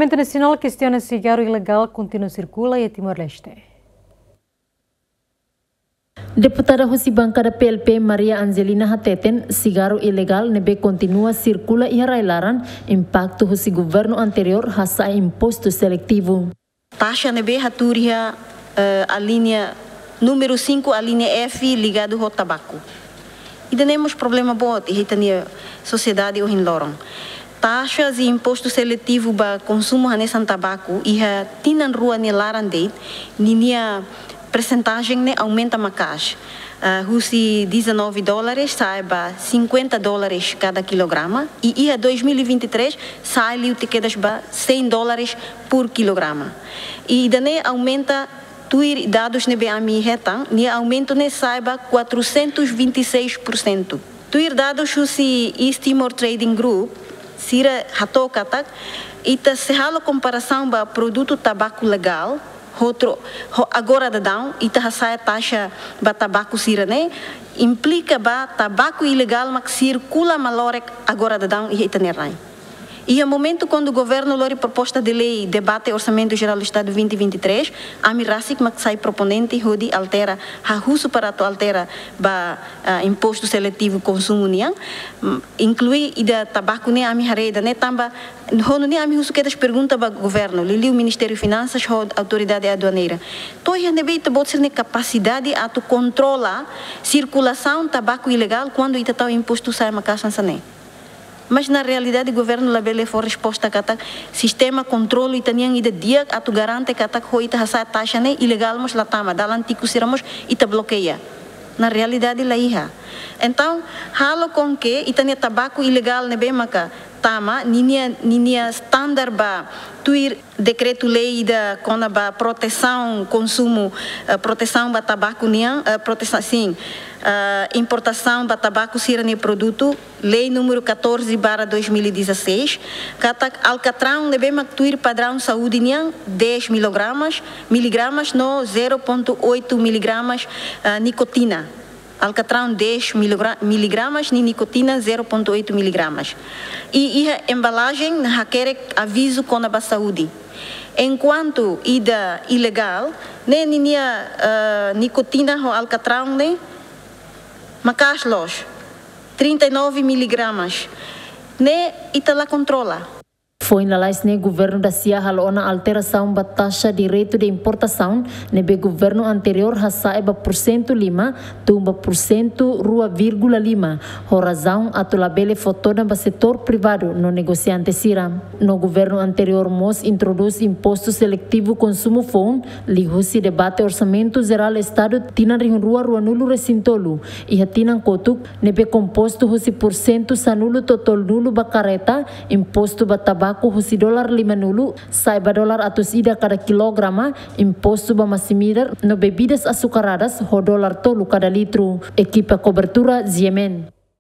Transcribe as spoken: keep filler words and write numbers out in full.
Parlamentu Nasionál kestiona sigarru ilegál kontinua sirkula iha Timor-Leste. Deputada husi bankada P L P Maria Angelina hateten, sigarru ilegál ne'ebé kontinua sirkula iha rai-laran, impaktu husi governu anteriór hasa'e impostu seletivu. Taxa ne'ebé hatuur iha, eh, alínea númeru cinco, alínea F, ligadu ho tabaku. Ida-ne'e mós problema boot iha ita-nia sosiedade ohin loron. Taxa de impostu seletivu ba konsumu hanesan tabaku iha tinan rua nia laran de'it, ninia persentajen ne'e aumenta maka'as. Ah, husi dezanove dólares sa'e ba cinquenta dólares kada kilograma, i iha dois mil e vinte e três sa'e liu tiha kedas ba cem dólares por kilograma. I ida-ne'e aumenta, tuir dadus ne'ebé ami hetan, nia aumentu ne'e sa'e ba quatrocentos e vinte e seis por cento. Tuir dadus husi East Timor Trading Group, sira hato'o katak, ita se halo komparasaun ba produtu tabaku legál, ho tro-, ho agora daudaun, ita hasa'e taxa ba tabaku sira-ne'e, implika ba tabaku ilegál mak sirkula malorik agora daudaun iha ita-nia rai. Iha momentu kuandu governu lori proposta de lei debate Orsamentu Jerál do Estadu vinte vinte e três, ami rasik mak sai proponente hodi altera, hahú husu para atu altera ba, ah, impostu seletivu konsumu nian, mm, inklui ida tabaku ne'e ami haree ida-ne'e tanba, ho nune'e ami husu kedas pergunta ba governu, liuliu Ministériu Finansas ho Autoridade Aduaneira. To'o iha ne'ebé ita-boot sira-nia kapasidade atu kontrola sirkulasaun tabaku ilegál kuandu ita tau impostu sa'e maka'as hanesan ne'e? Mas na realidade governu labele fó resposta katak sistema kontrolu ita-nian ida di'ak atu garante katak ho ita hasa'e taxa ne'e ilegál mós la tama, dalan tiku sira mós ita blokeia. Na realidade la iha. Entaun, halo com que ita-nia tabaku ilegál ne'ebé maka tama, ninia, ninia standar ba tuir dekretu-lei ida kona-ba protesaun konsumu, eh, protesaun ba tabaku nian, eh, protesa-, sin, eh, importasaun ba tabaku sira-nia produtu, lei númeru catorze barra dois mil e dezasseis, katak alkatraun ne'ebé mak tuir padraun saúde nian dez miligramas, miligramas no zero ponto oito miligramas, eh, nikotina. Alkatraun dez miligra-, miligramas, ni nikotina zero ponto oito miligramas. I iha embalajen hakerek avizu kona-ba saúde. Enkuantu ida ilegál, ne'e ninia, eh, nikotina ho alkatraun ne'e maka'as loos, trinta e nove miligramas. Ne'e ita la kontrola. Foin lalais ne'e governu dasia halo ona alterasaun ba taxa direitu de importasaun, ne'ebé governu anteriór hasa'e ba porsentu lima, tun ba porsentu rua vírgula lima, ho razaun atu labele fó todan ba setór privadu no negosiante sira. No governu anteriór mós introdús impostu seletivu konsumu foun, liuhusi debate Orsamentu Jerál Estadu tinan rihun rua ruanulu resin tolu, iha tinan kotuk, ne'ebé kompostu husi porsentu sanulu to'o tolunulu ba karreta, impostu ba tabaku husi dolar limanulu sa'e ba dolar atus ida kada kilograma, impostu ba masin-midar no bebidas açucaradas ho dolar tolu kada litru. Ekipa kobertura, G M N.